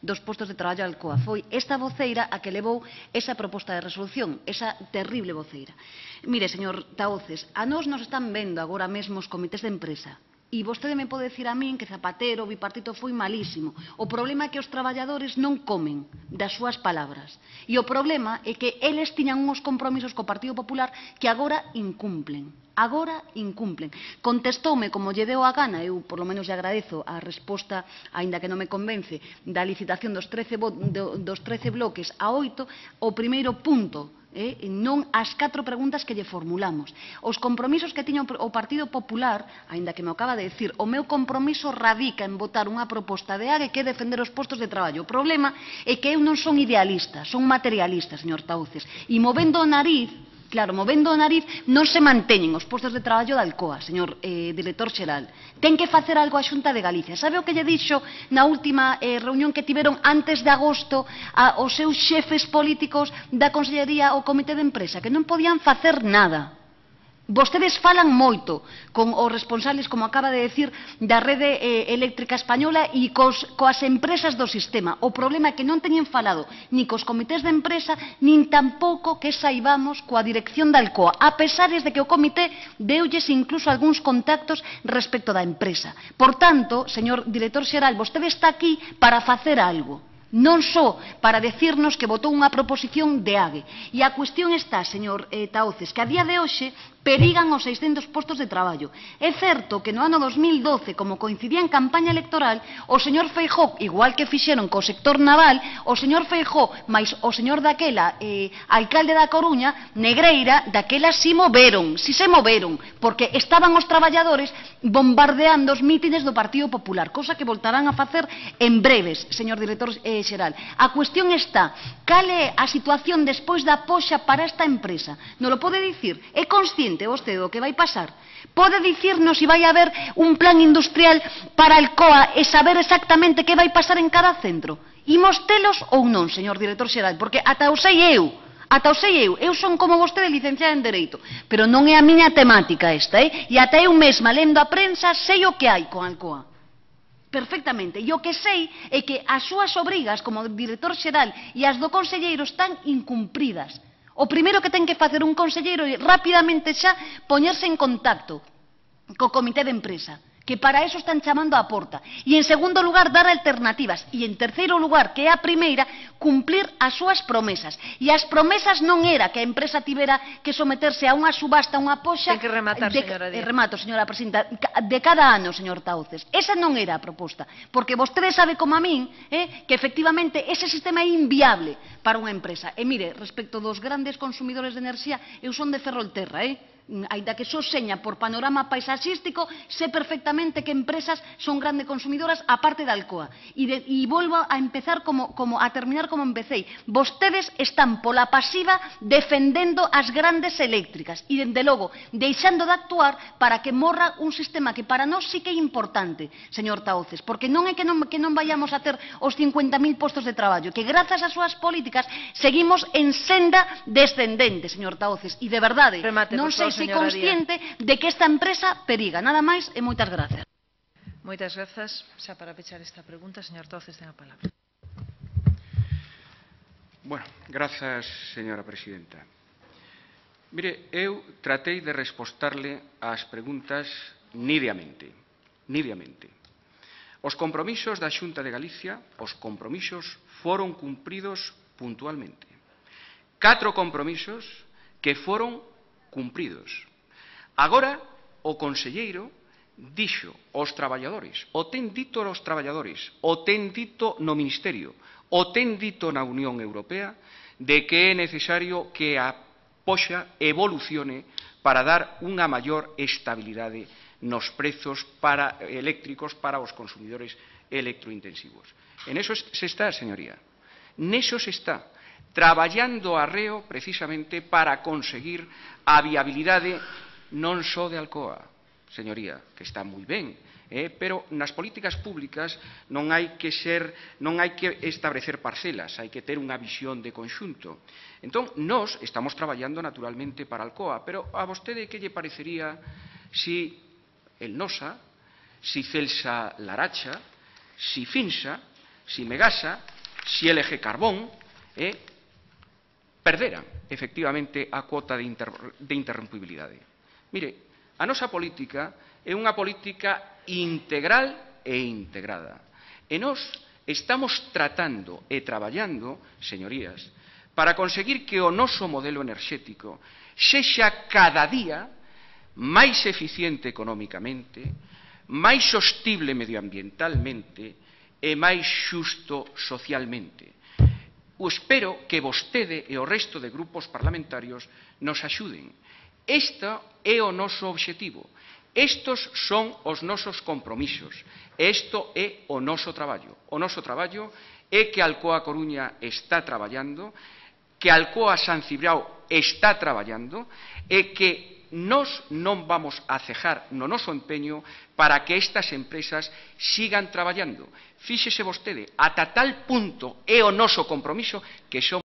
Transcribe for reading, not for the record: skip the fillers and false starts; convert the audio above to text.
dos postos de traballo de Alcoa. Foi esta voceira a que levou esa proposta de resolución, esa terrible voceira. Mire, señor Tahoces, a nós nos están vendo agora mesmo os comités de empresa. E vostede me pode dicir a min que Zapatero, o bipartito, foi malísimo. O problema é que os traballadores non comen das súas palabras. E o problema é que eles tiñan uns compromisos co Partido Popular que agora incumplen. Agora incumplen. Contestoume como lle deu a gana, eu por lo menos lle agradezo a resposta, aínda que non me convence, da licitación dos 13 bloques a 8, o primeiro punto, non as 4 preguntas que lle formulamos. Os compromisos que tiña o Partido Popular, aínda que me acaba de decir, o meu compromiso radica en votar unha proposta de AGE que é defender os postos de traballo. O problema é que eu non son idealista, son materialista, señor Tahoces, e movendo o nariz, claro, movendo o nariz non se manteñen os postos de traballo da Alcoa, señor director xeral. Ten que facer algo a Xunta de Galicia. Sabe o que lle dixo na última reunión que tiveron antes de agosto aos seus xefes políticos da Consellería ao Comité de Empresa? Que non podían facer nada. Vostedes falan moito con os responsables, como acaba de decir, da rede eléctrica española e coas empresas do sistema. O problema é que non teñen falado ni cos comités de empresa, nin tampouco que saibamos coa dirección da Alcoa, a pesares de que o comité deulles incluso algúns contactos respecto da empresa. Por tanto, señor director xeral, vostede está aquí para facer algo. Non só para decirnos que votou unha proposición de AGE. E a cuestión está, señor Tahoces, que a día de hoxe perigan os 600 postos de traballo. É certo que no ano 2012, como coincidía en campaña electoral, o señor Feijóo, igual que fixeron co sector naval, o señor Feijóo, máis o señor daquela, alcalde da Coruña, Negreira, daquela si se moveron, porque estaban os traballadores bombardeando os mítines do Partido Popular, cosa que voltarán a facer en breves, señor director xeral. A cuestión está, cal é a situación despois da poxa para esta empresa? Non lo pode dicir? É consciente vostede o que vai pasar? Pode dicirnos se vai haber un plan industrial para Alcoa e saber exactamente que vai pasar en cada centro? Imos telos ou non, señor director xeral? Porque ata o sei eu, eu son como vostede licenciada en Dereito, pero non é a miña temática esta, e ata eu mesma, lendo a prensa, sei o que hai con Alcoa. Perfectamente. E o que sei é que as súas obrigas como director xeral e as do conselleiro están incumpridas. O primeiro que ten que facer un conselleiro é rapidamente xa poñerse en contacto co comité de empresa, que para eso están chamando á porta. E en segundo lugar, dar alternativas. E en terceiro lugar, que é a primeira, cumplir as súas promesas. E as promesas non era que a empresa tivera que someterse a unha subasta, unha poxa... Ten que rematar, señora Díaz. Remato, señora presidenta, de cada ano, señor Tahoces. Esa non era a proposta. Porque vostede sabe como a min que efectivamente ese sistema é inviable para unha empresa. E mire, respecto dos grandes consumidores de enerxía, eu son de Ferrolterra, aínda que só seña por panorama paisaxístico, sé perfectamente que empresas son grandes consumidoras aparte da Alcoa. E volvo a empezar a terminar como empecéi. Vostedes están pola pasiva defendendo as grandes eléctricas e, dende logo, deixando de actuar para que morra un sistema que para nós sí que é importante, señor Tahoces, porque non é que non vayamos a ter os 50.000 postos de traballo, que grazas ás súas políticas seguimos en senda descendente, señor Tahoces, e de verdade, non sei se consciente de que esta empresa periga. Nada máis e moitas grazas. Moitas grazas. Xa para pechar esta pregunta, señor Tahoces, ten a palabra. Bueno, grazas, señora presidenta. Mire, eu tratei de respostarle ás preguntas nidamente. Os compromisos da Xunta de Galicia, os compromisos foron cumpridos puntualmente. 4 compromisos que foron cumpridos. Agora, o conselleiro dixo aos traballadores, o ten dito aos traballadores, o ten dito no Ministerio, o ten dito na Unión Europea, de que é necesario que a poxa evolucione para dar unha maior estabilidade nos prezos eléctricos para os consumidores electrointensivos. En eso se está, señoría. Neso se está. Traballando arreo precisamente para conseguir a viabilidade non só de Alcoa, señoría, que está moi ben, pero nas políticas públicas non hai que establecer parcelas, hai que ter unha visión de conxunto. Entón, nós estamos traballando naturalmente para Alcoa, pero a vostede que lle parecería si el Nosa, si Celsa Laracha, si Finsa si Megasa, si LG Carbón, perderan, efectivamente, a cuota de interrompibilidade. Mire, a nosa política é unha política integral e integrada. E nós estamos tratando e traballando, señorías, para conseguir que o noso modelo enerxético sexa cada día máis eficiente económicamente, máis sostible medioambientalmente e máis xusto socialmente. Espero que vostede e o resto de grupos parlamentarios nos axuden. Este é o noso obxectivo. Estos son os nosos compromisos. Isto é o noso traballo. O noso traballo é que Alcoa Coruña está traballando, que Alcoa San Cibrao está traballando e que nós non vamos a cejar no noso empeño para que estas empresas sigan traballando. Fíxese vostede, ata tal punto é o noso compromiso que somos